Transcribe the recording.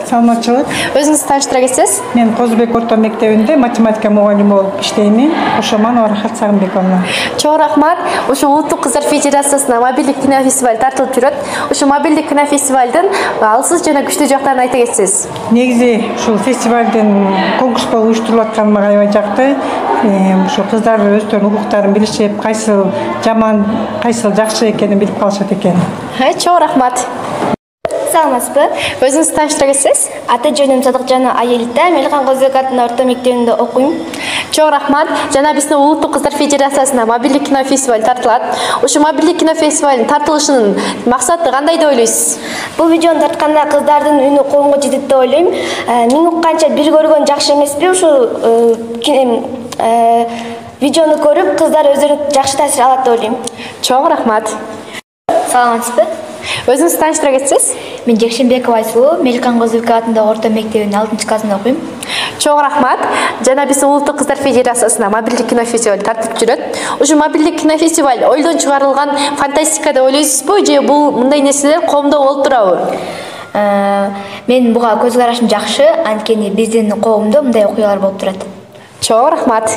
Саламатчылык. Өзүңүздү тааныштыра кетсеңиз? Мен Козубек орто мектебинде математика мугалими болуп иштеймин. Кошоманова Рахат Сагынбековна. Чоң рахмат. Ушу Улуттук кыздар федерациясына мобилдик кинофестиваль тартылып жүрөт. Ушу мобилдик кинофестивалдын алсыз жана күчтүү жактарын айта кетсеңиз. Негизи ушул фестивалдын конкурс болуп уюштурулуп атканы мага аябай жакты. Ушу кыздар өздөрүнүн укуктарын билишип, кайсыл жаман, кайсыл жакшы экенин билип калышат экен. Чоң рахмат. Саламатсызбы? Өзүңүздү тааныштыра кетсеңиз? Аты жөнүм Садыкжана Айелита, Мелихан Козубек атынын орто мектебинде окуйм. Чоң рахмат. Жана биздин Улуттук кыздар федерациясына мобилдик кинофестиваль тартылат. Ушу мобилдик кинофестивалдын тартылышынын максаты кандай деп ойлойсуз? Бул видеону тартканда кыздардын үнү коомго жетет деп ойлойм. Мен укканча бир көргөн жакшы эмеспи? Ушу видеону көрүп кыздар өздөрүнө жакшы таасир алат деп ойлойм. Чоң рахмат. Саламатсызбы? Өзүңүздү тааныштыра кетсеңиз? Мен Жекшенбекова Айсулуу, Мелихан Козубек атындагы орто мектебинин 6-классында окуйм. Чоң рахмат. Жана биздин Улуттук кыздар федерациясына мобилдик кинофестиваль тартып жүрөт. Ушу мобилдик кинофестиваль ойдон чыгарылган фантастика деп ойлойсузбу же бул мындай нерселер коомдо болуп турабы? Мен буга көз карашым жакшы, анткени биздин коомдо мындай окуялар болуп турат. Чоң рахмат.